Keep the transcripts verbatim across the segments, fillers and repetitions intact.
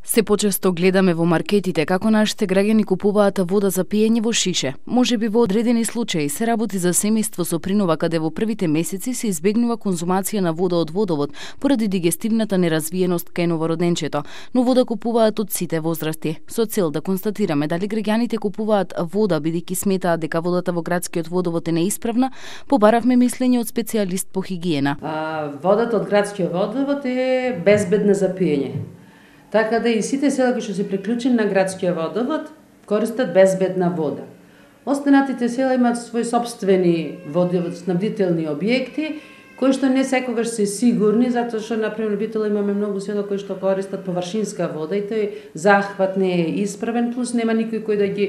Се почесто гледаме во маркетите како нашите граѓани купуваат вода за пиење во шише. Можеби во одредени случаи се работи за семејство со принова каде во првите месеци се избегнува конзумација на вода од водовод поради дигестивната неразвиеност кај новороденчето, но вода купуваат од сите возрасти. Со цел да констатираме дали граѓаните купуваат вода бидејќи сметаат дека водата во градскиот водовод е неисправна, побаравме мислење од специјалист по хигиена. А, водата од градскиот водовод е безбедна за пиење. Така да и сите села кои што се приклучени на градскиот водовод користат безбедна вода. Останатите села имаат своји сопствени водоснабдителни објекти кои што не секогаш се сигурни, затоа што например во Битола имаме многу села кои што користат површинска вода и тој захват не е исправен, плюс нема никој кој да ги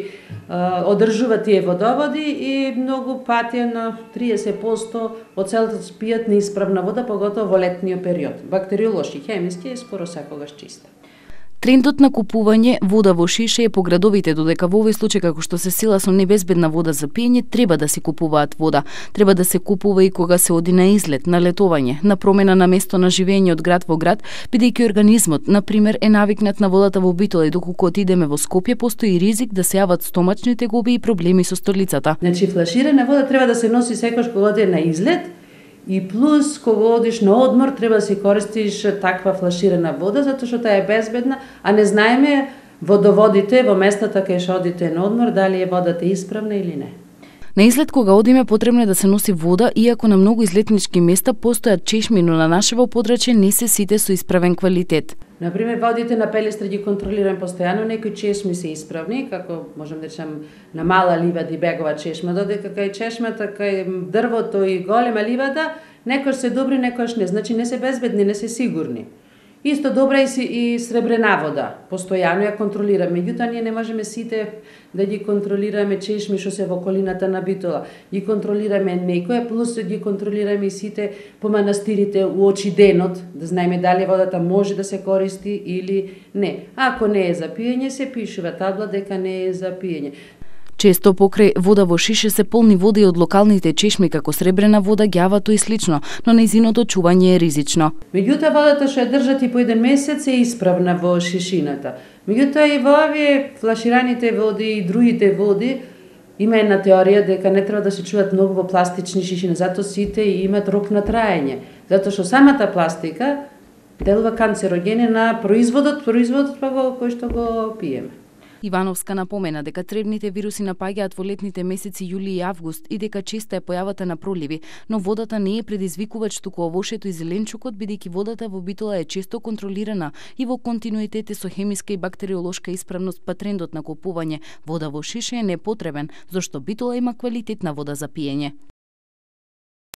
а, одржува тие водоводи и многу пати на триесет проценти од селото пијат неисправна вода, поготово во летниот период. Бактериолошки, хемиски е скоро секогаш чиста. Трендот на купување вода во шише е по градовите, додека во овој случај како што се села со небезбедна вода за пиење, треба да се купуваат вода. Треба да се купува и кога се оди на излет, на летување, на промена на место на живење од град во град, бидејќи организмот, на пример, е навикнат на водата во Битола и доколку отидеме во Скопје, постои ризик да се јават стомачни тегоби и проблеми со столицата. Значи флаширана вода треба да се носи секогаш кога оди на излет. И плюс, кога одиш на одмор, треба да се користиш таква флаширана вода, затоа што таа е безбедна, а не знаеме водоводите во местата кај што одите на одмор, дали е водата исправна или не. На излет кога одиме потребно е да се носи вода, иако на многу излетнички места постојат чешми, но на нашево подрачје не се сите со исправен квалитет. Например, водите на Пелестра ги контролираме постојано, некои чешми се исправни, како можам да речем на Мала ливада и Бегова чешма, додека кај чешмата, кај дрвото и голема ливада, некош се добри, некош не, значи не се безбедни, не се сигурни. Исто добра и, и сребрена вода, постојано ја контролираме, меѓутоа ние не можеме сите да ги контролираме чешми што се во околината на Битола. Ги контролираме некоја, плюс ги контролираме и сите по манастирите уочи денот, да знаеме дали водата може да се користи или не. Ако не е за пиење, се пишува табла дека не е за пиење. Често покрај вода во шише се полни вода и од локалните чешми како сребрена вода, ѓавато и слично, но нејзиното чување е ризично. Меѓутоа водата што ја држат и по еден месец е исправна во шишината. Меѓутоа и во овие флашираните води и другите води има една теорија дека не треба да се чуваат многу во пластични шишини, затоа сите имаат рок на траење. Затоа што самата пластика делува канцерогени на производот, производот па го кој што го пиеме. Ивановска напомена дека тревните вируси напаѓаат во летните месеци јули и август и дека честа е појавата на проливи, но водата не е предизвикувач туку овошето и зеленчукот, бидејќи водата во Битола е често контролирана и во континуитет со хемиска и бактериолошка исправност, па трендот на купување вода во шише е непотребен, зашто Битола има квалитетна вода за пиење.